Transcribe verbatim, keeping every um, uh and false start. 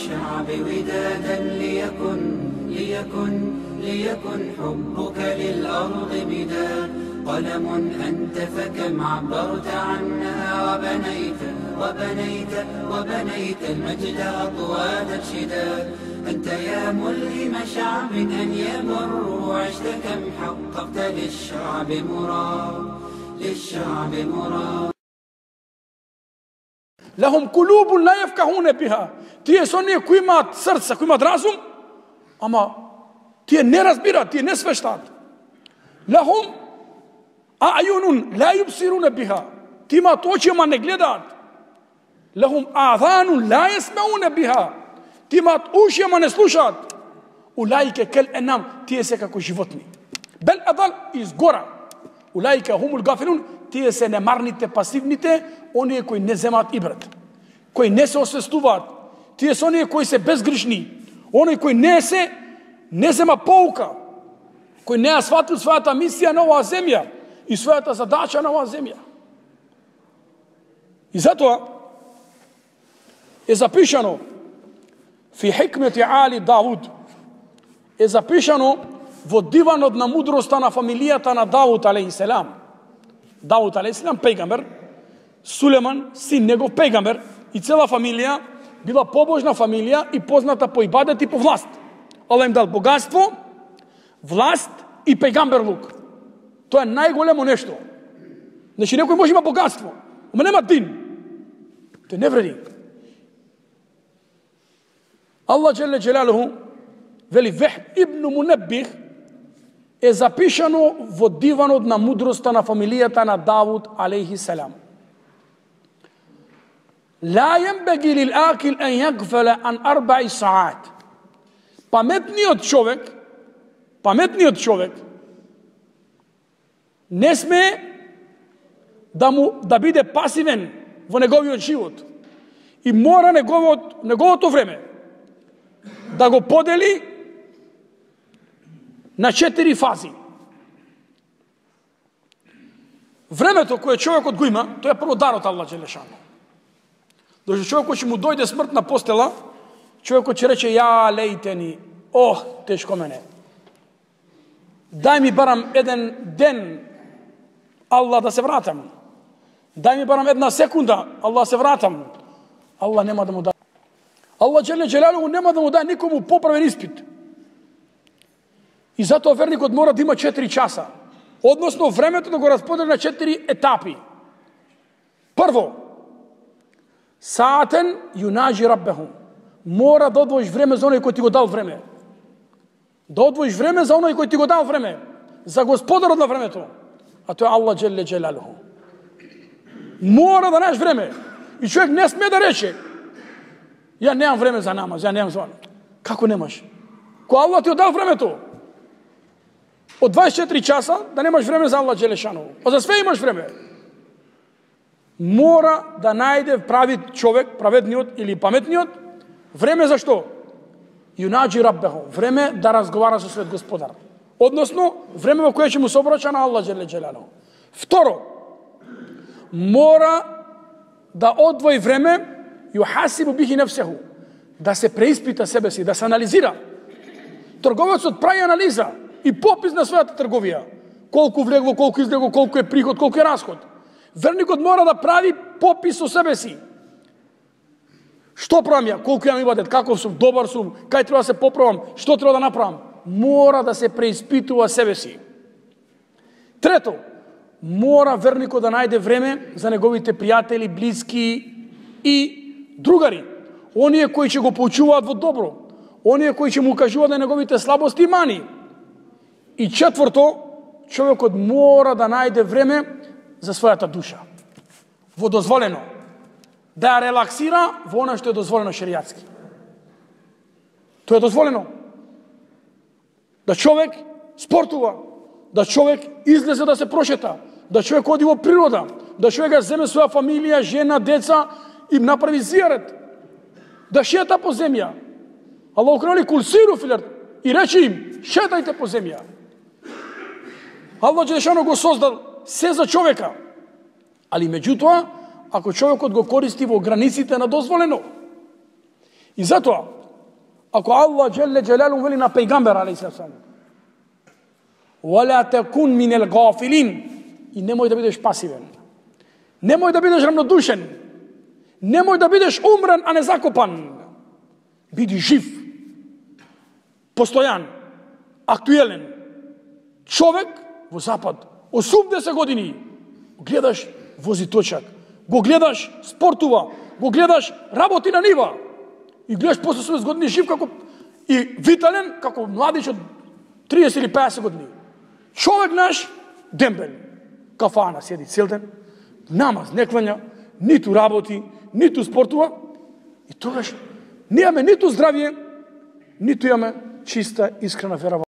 للشعب ودادا ليكن ليكن ليكن حبك للأرض بداد قلم أنت فكم عبرت عنها وبنيت وبنيت وبنيت المجد أطواد الشداد أنت يا ملهم شعب أن يمر عشت كم حققت للشعب مراد للشعب مراد. لهم قلوب لا يفقهون بها. Тие со оние кои имаат срца, кои имаат разум, ама тие не разбираат, тие не свештаат. Лахум ајунун ла юбсируна биха. Тие имаат очи, ама не гледаат. Лахум аъзанун ла јасмауна биха. Тие имаат уши, ама не слушаат. Улаика кал анам, тие се како животни. Бел адал изгора. Улаика хумул гафилун, тие се немарните, пасивните, оние кои не земаат ибрат, кои не се освестуваат. Тие се оние кои се безгришни, оние кои не се не зема поука, кои не ја сватил својата мисија на оваа земја и својата задача на оваа земја. И затоа е запишано фи хикмети али Давуд, е запишано во диванот на мудроста на фамилијата на Давуд алейхиселам. Давуд алейхиселам пејгамбер, Сулеман, син негов пејгамбер, и цела фамилија била побожна фамилија и позната по ибадет и по власт. Аллах им дал богатство, власт и пејгамберлук. Тоа е најголемо нешто. Значи некој може има богатство, ама нема дин. Тоа не вреди. Аллах джеле джелалуху вели Вехб ибн Мунеббих е запишано во диванот на мудроста на фамилијата на Давуд алейхиселам. لا ينبغي للآكل أن يغفل عن أربع ساعات. Паметниот човек, паметниот човек не сме да му да биде пасивен во неговиот живот и мора неговото неговото време да го подели на четири фази. Времето кое човекот го има, тоа е прво дар од Аллах джелешано. Дошто човекот ќе му дојде смрт на постела, човекот ќе рече ја лейтени, ох, тешко мене. Дај ми барам еден ден, Аллах да се вратам. Дај ми барам една секунда, Аллах се вратам. Аллах нема да му даде. Аллах джеле джелалуху нема да му даде никому поправен испит. И затоа верникот мора да има четири часа. Односно времето да го расподели на четири етапи. Прво, саатен юнаджи раббеху. Мора да одвоиш време за оној кој ти го дал време. Да одвоиш време за оној кој ти го дал време. За господарот на времето. А тоа е Аллах джеле джелалуху. Мора да најдеш време. И човек не сме да рече ја немам време за намаз, ја немам зван. Како немаш? Кој Аллах ти дал времето? Од дваесет и четири часа да немаш време за Аллах джелешану. А за све имаш време. Мора да најде прави човек, праведниот или паметниот, време за што? Юнаджи раббеху, време да разговара со својот господар. Односно, време во кое ќе му се обраќа на Аллах джеле джелалуху. Второ, мора да одвои време юхасибу бихи нефсеху, да се преиспита себе си, да се анализира. Трговецот прави анализа и попис на својата трговија. Колку влегло, колку излегло, колку е приход, колку е расход. Верникот мора да прави попис со себе си. Што правам ја? Колку јам ибадет? Каков сум? Добар сум? Кај треба да се поправам? Што треба да направам? Мора да се преиспитува себе си. Трето, мора верникот да најде време за неговите пријатели, блиски и другари. Оние кои ќе го поучуваат во добро. Оние кои ќе му кажуваат на неговите слабости и мани. И четврто, човекот мора да најде време за својата душа. Во дозволено. Да ја релаксира во она што е дозволено шеријатски. Тоа е дозволено. Да човек спортува, да човек излезе да се прошета, да човек оди во природа, да човек ја земе своја фамилија, жена, деца и направи зијарет, да шета по земја. Аллах крали кулсиру филер и рече им, шетајте по земја. Аллах джелешано го создал се за човека. Али меѓутоа, ако човекот го користи во границите на дозволено. И затоа, Ако Allah dželle dželaluhu veli na pejgamber alejhi selam, "Wala takun min al-ghafilin", i nemoj da бидеш пасивен. Немој да бидеш равнодушен. Немој да бидеш умрен, а не закопан. Биди жив, постојан, актуелен. Човек во запад, осумдесет години, гледаш вози точак, го гледаш спортува, го гледаш работи на нива и гледаш после осумдесет години жив како и витален како младич од триесет или пеесет години. Човек наш дембел, кафана седи цел ден, намаз не клања, ниту работи, ниту спортува, и тогаш немаме ниту здравје, ниту имаме чиста искрена вера.